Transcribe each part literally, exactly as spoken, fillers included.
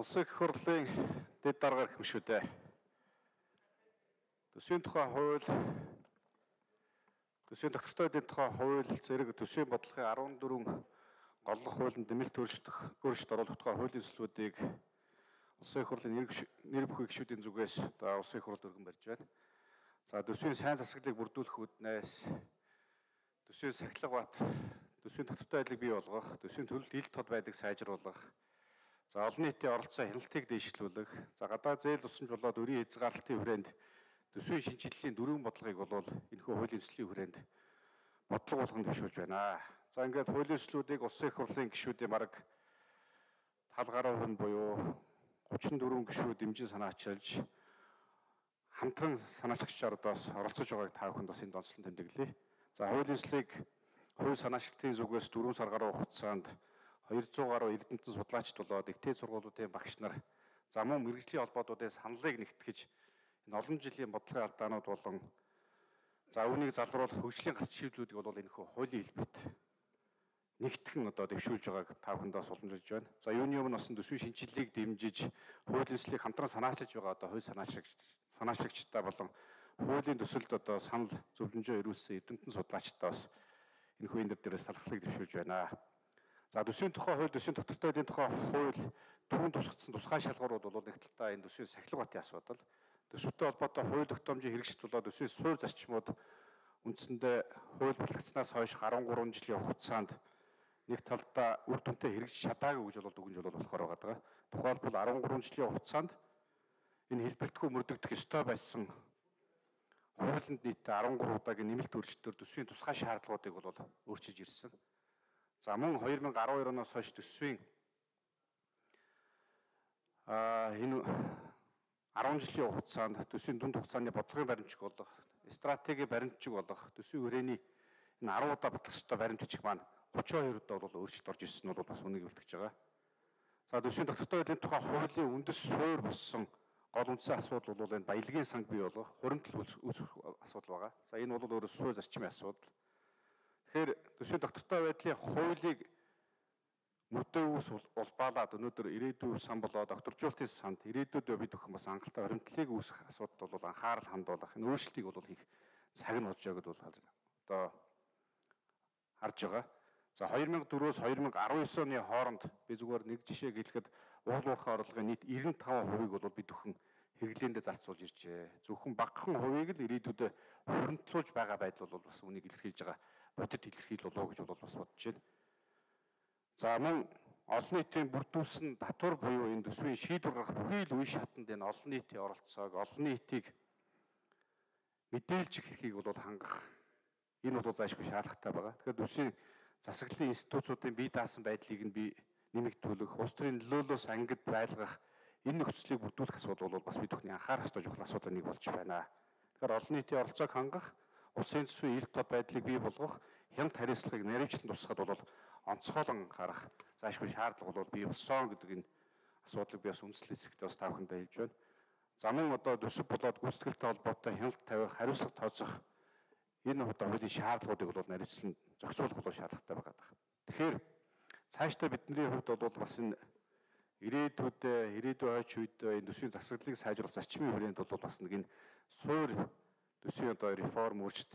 Улсын их хурлын дэд дарга гэмшүүдээ. Төсвийн тухай хууль, төсвийн тогтвортой эдийн тухай хууль зэрэг төсвийн бодлогын арван дөрвөн голлох хуулинд нэмэлт өөрчлөлт оруулах тухай хуулийн төслүүдийг Улсын их хурлын нэр бүхий гишүүдийн зүгээс одоо Улсын их хурлд өргөн барьж байна. За төсвийн сайн засаглалыг бүрдүүлэх үүднээс төсвийн сахилга бат, төсвийн тогтвортой байдлыг бий болгох, төсвийн төлөлт ил тод байдгийг сайжруулах, за олон нийтийн оролцоо хяналтыг дэвшлүүлэх, за гадаад зээл тусламж болоод өрийн хязгаарлалтын хүрээнд төсвийн шинжилгэлийн дөрвөн бодлогыг болвол энэхүү хуулийн төслийн хүрээнд бодлого болгон төвшүүлж байна. За ингээд хуулийн төслүүдийг Улсын их хурлын гишүүдийн бараг тал гаруй хүн буюу гучин дөрвөн гишүүд дэмжин санаачилж хамтран санаачлагчаар одоос оролцож байгааг та бүхэнд бас энд онцлон тэмдэглэе. За хуулийн төслийг хувь санаачлагчдын зүгээс дөрвөн сар гаруй хугацаанд хоёрдугаар гаруй эрдэмтэн судлаачд болоод ихтэй сургуулиудын багш нар за мөн мэрэгжлийн холбоотуудын саналыг нэгтгэж энэ олон жилийн бодлогын алдаанууд болон за үүнийг залруулах хөгжлийн гарц шийдлүүдийг бол энэхүү хуулийн хэлбэрт нэгтгэн одоо дэвшүүлж байгааг та бүхэндээ суламжилж байна. За юуны өмнө бас төсвийн шинжилгээг дэмжиж хуулийн төслийг хамтран санаачилж байгаа одоо хувь санаачлагч санаачлагчдаа болон хуулийн төсөлд одоо санал зөвлөмжөө ирүүлсэн эрдэмтэн судлаачдаа бас энэхүү энэ дээрээс талархлыг дэвшүүлж байна. За төсвийн тухай хууль, төсвийн тогтвортой эдийн тухай хууль түрүүн тусгацсан тусгай шалгуурууд бол нэг талдаа энэ төсвийн сахилга батын асуудал, төсвөтэй холбоотой хууль тогтоомжийн хэрэгжилт болоод төсвийн суурь зарчмууд үндсэндээ хууль батлагдсанаас хойш гарван гурван жилийн хугацаанд нэг талдаа үр дүнтэй хэрэгжиж чадаагүй гэж бол дүгнж бол болохоор байгаа. Тухайлбал арван гурван жилийн хугацаанд энэ хэлбэртгүй мөрдөгдөх ёстой байсан хуулинд нийт арван гурван удаагийн нэмэлт өөрчлөлтөөр төсвийн тусгай шаардлагуудыг бол өөрчилж ирсэн. За мөн две тысячи двадцать deux оноос хойш төсвийн а энэ арван жилийн хугацаанд төсвийн дунд хугацааны бодлогын баримтчиг болох, стратегийн баримтчиг болох, төсвийн хүрээний энэ арван удаа батлах ёстой баримтчиг маань гучин хоёр удаа бол өөрчлөлт орж ирсэн нь бол бас үнийг илтгэж байгаа. За төсвийн тогтвортой эдийн тухай хуулийн үндэс суурь болсон гол үндсэн асуудал бол энэ баялагын санг бий болгох, хуримтлал үүсгэх асуудал байгаа. За энэ бол өөрөөс суурь зарчмын асуудал. Тэгэхээр төсвийн тогтвортой байдлын хуулийг мөрдөөс улбаалаад өнөөдөр ирээдүйн сан болоод докторжуулалтын санд ирээдүйд бид өхөн бас хангалттай хуримтлалыг үүсгэх асуудал бол анхаарал хандуулах, энэ өөрчлөлтийг бол хийх цаг нь болж байгаа гэдээ бол одоо харж байгаа. За две тысячи четыре-өөс две тысячи десять оны хооронд би зүгээр нэг жишээг хэлэхэд уул уурхай орлогын нийт девяносто пять хувийг бол бид өхөн хэрэглээндээ зарцуулж иржээ. Зөвхөн багахан хувийг л ирээдүйд хуримтлуулж байгаа байдал бол бас үнийг илэрхийлж байгаа бодит илэрхийл болов гэж бол бас бодож байна. За мөн олон нийтийн бүрдүүлсэн татвар буюу энэ төсвийн шийдвэр гаргах бүхий л үе шатанд энэ олон нийтийн оролцоог, олон нийтийг мэдээлж хэрхийг бол хангах энэ бол заашгүй шаардлагатай байгаа. Тэгэхээр төсвийн засаглалын институцуудын бие даасан байдлыг нь би нэмэгдүүлэх, улс төрийн нөлөөлөөс ангид байлгах энэ нөхцөлийг бүрдүүлэх асуудал бол бас бид бүхний анхаарах ёстой чухал асуудал нэг болж байна. Тэгэхээр олон нийтийн оролцоог хангах, улсын төсвийн ил тод байдлыг бий болгох, хяналт хариуцлагыг наривчлан тусгахад бол онцгойлон гарах заашгүй шаардлага бол бий болсон гэдэг энэ асуудлыг би бас үндэслэл хэсэгтээ бас та бүхэндээ хэлж байна. За мөн одоо төсөв болоод гүйцэтгэлтэй холбоотой хяналт тавих, хариуцлага тооцох энэ одоо хуулийн шаардлагуудыг бол наривчлан зохицуулах бол шаардлагатай байгаа. Тэгэхээр цаашдаа бидний хувьд бол бас энэ ирээдүйд ирээдүйн ойч үед энэ төсвийн засаглалыг сайжруулах зарчмын хүрээнд бол бас нэг энэ суурь төсвийн одоо реформ өөрчлөлт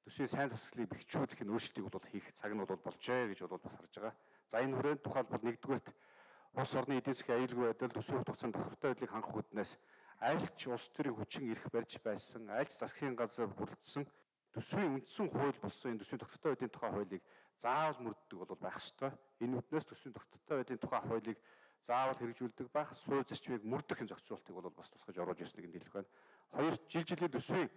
төсвийн сайн засаглалыг бэхжүүлэх энэ өөрчлөлтийг бол хийх цаг нь бол болжээ гэж бол бас харж байгаа. За энэ хүрээнд тухайлбал нэгдүгээрт улс орны эдийн засгийн аюулгүй байдал төсвийн тогтсон тогтвортой байдлыг хангах үүднээс альч улс төрийн хүчин эрх барьж байсан, альч засгийн газар бүрдсэн төсвийн үндсэн хууль болсон энэ төсвийн тогтвортой байдлын тухай хуулийг заавал мөрддөг бол байх ёстой. Энэ үднээс төсвийн тогтвортой байдлын тухай хуулийг заавал хэрэгжүүлдэг байх, суурь зарчмыг мөрдөх энэ зохицуултыг бол бас тусгаж оруулж ирснийг нь хэлэх байна. Хоёр жил жилийн төсвийн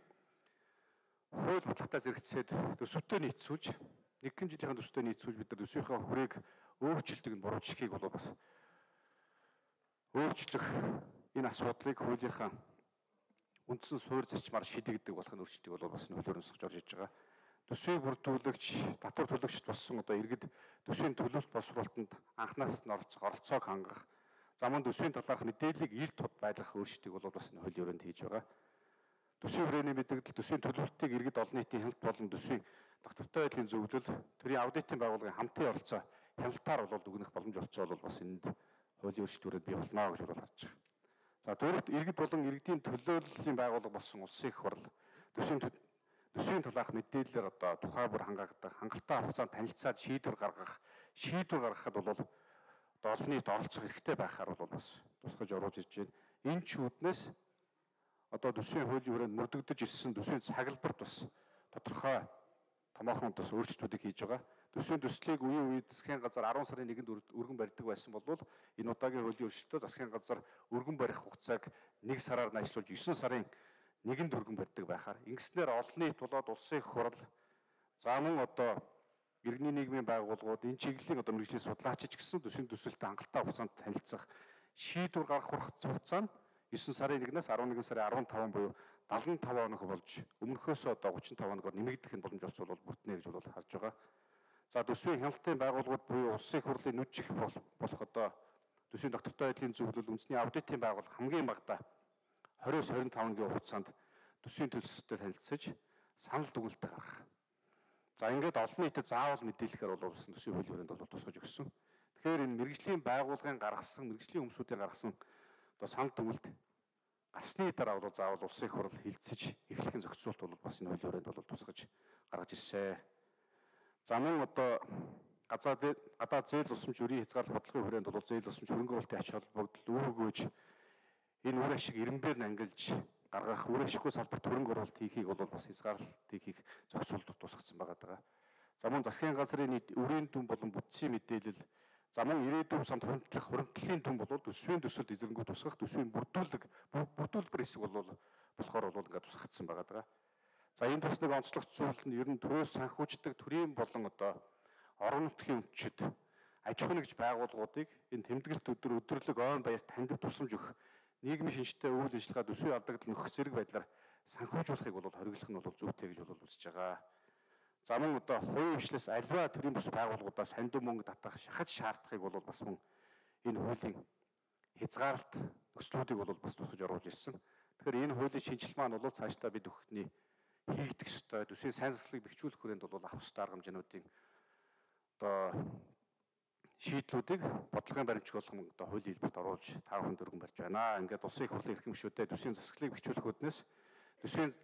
хууль баталгаатай зэрэгцээд төсөвтэй нийцүүлж, нэгэн жилийн төсөвтэй нийцүүлж бид нар төсвийнхээ хүрээг өөрчилдөг нь буруу жишгийг бол бас өөрчлөх энэ асуудлыг хуулийнхаа үндсэн суурь зарчмаар шийдэгдэх болох нь өөрчлөлтийг бол бас нөлөөр өсгөж орж иж байгаа. Төсвийн бүрдүүлэгч, татвар төлөгчд болсон одоо иргэд төсвийн төлөлт боловсруулалтанд анхнаас нь оролцох оролцоог хангах, за мөн төсвийн талаарх мэдээллийг ил тод байлгах өөрчлөлтийг бол бас энэ хуулийн өрөөнд хийж байгаа. Төсвийн хүрээний мэдээлэл, төсвийн төлөвлөлтийг иргэд олон нийтийн хяналт болон төсвийн тогтвортой байдлын зөвлөл, төрийн аудитын байгууллагын хамтын оролцоо хяналтаар бол дүгнэх боломж олцоо бол бас энд хуулийн өөрчлөлтүүрээр бий болно гэж бол харж байгаа. За дөрөвт иргэд болон иргэдийн төлөөллийн байгууллага болсон улсын их хурл төсвийн төсвийн талаарх мэдээлэлээр одоо тухай бүр хангагдах, хангалттай хугацаанд танилцаад шийдвэр гаргах, шийдвэр гаргахад бол одоо олон нийт оролцох хэрэгтэй байхаар бол бас тусгаж оруулж ирж байна. Энэ ч үүднээс одоо төсвийн хуулийн хүрээнд мөрдөгдөж ирсэн төсвийн цаглбарт бас тодорхой томоохон бас өөрчлөлтүүдийг хийж байгаа. Төсвийн төслийг үеийн үед засгийн газар арван сарын нэгэнд өргөн барьдаг байсан бол энэ удаагийн хуулийн өөрчлөлтөөр засгийн газар өргөн барих хугацааг нэг сараар найшлуулж есөн сарын нэгэнд өргөн барьдаг байхаар ингэснээр олон нийт болоод улсын их хурл за мөн одоо иргэний нийгмийн байгууллагууд энэ чиглэлийн одоо мэргэжлийн судлаачид гэсэн төсвийн төсөлтөд хангалттай хугацаанд танилцах шийдвэр гаргах хугацаа нь есөн сарын нэгнээс арван нэгэн сарын арван таван буюу дагалдаа таван хоног болж өмнөхөөс одоо гучин таван хоногоор нэмэгдэх нь боломж олцвол бол бүртнэ гэж бол харж байгаа. За төсвийн хяналтын байгууллагууд буюу улсын их хурлын нүд жих болох одоо төсвийн доктортой байдлын зөвлөл үндэсний аудитын байгууллага хамгийн багадаа двадцать-с двадцать и пять гийн хугацаанд төсвийн төлөвлөлтөд танилцаж санал дүгнэлт гаргах. За ингээд олон нийтэд заавал мэдээлэхээр бол улсын төсвийн хуулийн хүрээнд бол тусгаж өгсөн. Тэгэхээр энэ мэргэжлийн байгууллагын гаргасан, мэргэжлийн хүмүүсийн гаргасан одоо санал дүгнэлт гарсны дараа бол заавал улсын их хурл хилцэж эхлэх нь зохицуулт бол бас энэ хуулийн хүрээнд бол тусгаж гаргаж ирсэн. За мөн одоо газаа гадаад зээл усамж өрийн хязгаарлалт бодлогын хүрээнд бол зээл усамж хөрөнгө оруулалтын ач холбогдол үр өгөөж энэ үр ашиг ирэмбээр нь ангилж гаргах үр ашиггүй салбарт хөрөнгө оруулалт хийхийг бол бас хязгаарлалт хийхийг зохицуулт тусгацсан байгаа даа. За мөн засгийн газрын нийт өрийн дүн болон бүтцийн мэдээлэл за мөн ирээдүйн санд хөндлөх хуримтлалын дүн бол төсвийн төсөлд эзэрэнгүү тусгах төсвийн бүрдүүлэг бүрдүүлбэр хэсэг бол болохоор бол ингээд тусгацсан байгаа даа. За энэ бас нэг онцлог зүйл нь ер нь төрөөс санхүүждэг төрийн болон одоо орон нутгийн өмчид аж ахуй нэгж байгууллагуудыг энэ тэмдэглэлт өдөр өдрлөг ойн баярт таньдаг тусламж өгөх нийгмийн шинжтэй үйл ажиллагаа төсвийн алдагдал нөхөх зэрэг байдлаар санхүүжуулахыг бол хориглох нь бол зүйтэй гэж бол үзэж байгаа. За мөн одоо хувийн хвшлээс альва төрийн бус байгууллагуудаас хандив мөнгө татах шахаж шаардахыг бол бас мөн энэ хуулийн хязгаарлалт нөхцлүүдийг бол бас тусгаж оруулж ирсэн. Тэгэхээр энэ хуулийн шинжилгээ маань бол цаашдаа бид өгөхний хийгдэх ёстой төсвийн сайн засаглалыг бэхжүүлэх хүрээнд бол авах ёстой арга хэмжээнүүдийн одоо шийдлүүдийг бодлогын баримтчиг болгон одоо хуулийн хэлбэрт оруулж та бүхэнд өргөн барьж байна. Ингээд улсын их хурлын эрхэм гишүүдэд төсвийн засаглалыг бэхжүүлэх үүднээс төсвийн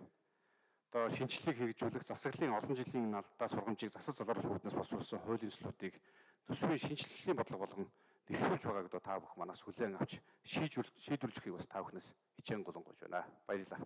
одоо шинжилгээг хэрэгжүүлэх засаглалын олон жилийн алдаа сургамжийг засаж залруулах үүднээс босруулсан хуулийн төслүүдийг төсвийн шинжилгэлийн бодлого болгон дэвшүүлж байгааг одоо та бүхэн манаас хүлээн авч шийдвэрлэхийг бас та бүхнээс хичээн голонгойж байна. Баярлалаа.